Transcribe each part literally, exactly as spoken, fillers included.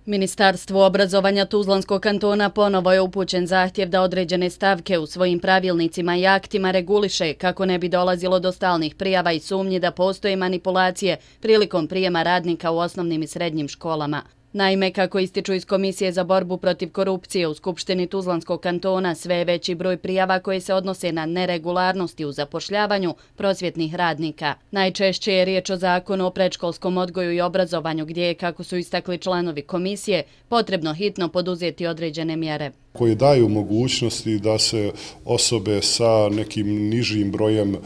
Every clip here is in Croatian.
Ministarstvu obrazovanja Tuzlanskog kantona ponovo je upućen zahtjev da određene stavke u svojim pravilnicima i aktima reguliše kako ne bi dolazilo do stalnih prijava i sumnji da postoje manipulacije prilikom prijema radnika u osnovnim i srednjim školama. Naime, kako ističu iz Komisije za borbu protiv korupcije u Skupštini Tuzlanskog kantona, sve je veći broj prijava koje se odnose na neregularnosti u zapošljavanju prosvjetnih radnika. Najčešće je riječ o zakonu o predškolskom odgoju i obrazovanju gdje je, kako su istakli članovi komisije, potrebno hitno poduzeti određene mjere. Koje daju mogućnosti da se osobe sa nekim nižim brojem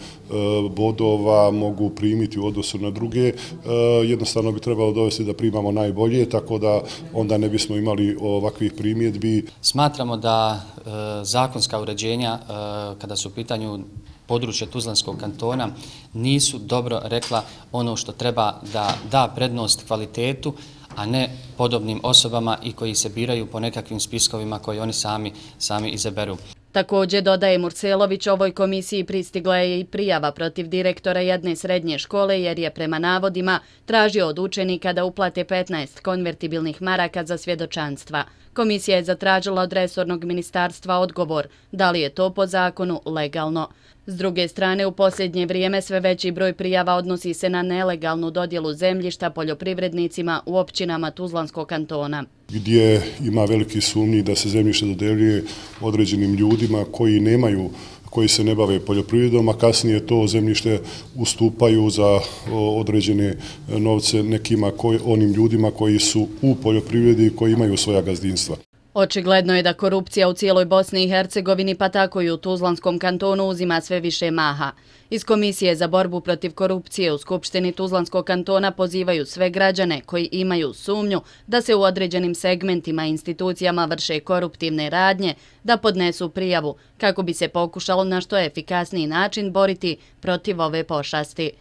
bodova mogu primiti u odnosu na druge. Jednostavno bi trebalo dovesti da primamo najbolje, tako da onda ne bismo imali ovakvih primjedbi. Smatramo da zakonska uređenja kada su u pitanju područje Tuzlanskog kantona nisu dobro rekla ono što treba da da prednost kvalitetu, a ne podobnim osobama i koji se biraju po nekakvim spiskovima koje oni sami, sami izaberu. Također, dodaje Murselović, ovoj komisiji pristigla je i prijava protiv direktora jedne srednje škole jer je prema navodima tražio od učenika da uplate petnaest konvertibilnih maraka za svjedočanstva. Komisija je zatražila od resornog ministarstva odgovor da li je to po zakonu legalno. S druge strane, u posljednje vrijeme sve veći broj prijava odnosi se na nelegalnu dodjelu zemljišta poljoprivrednicima u općinama Tuzlanskog kantona, gdje ima veliki sumnji da se zemljište dodeljuje određenim ljudima koji nemaju, koji se ne bave poljoprivredom, a kasnije to zemljište ustupaju za određene novce nekima, onim ljudima koji su u poljoprivredi i koji imaju svoja gazdinstva. Očigledno je da korupcija u cijeloj Bosni i Hercegovini, pa tako i u Tuzlanskom kantonu, uzima sve više maha. Iz Komisije za borbu protiv korupcije u Skupštini Tuzlanskog kantona pozivaju sve građane koji imaju sumnju da se u određenim segmentima i institucijama vrše koruptivne radnje da podnesu prijavu kako bi se pokušalo na što efikasniji način boriti protiv ove pošasti.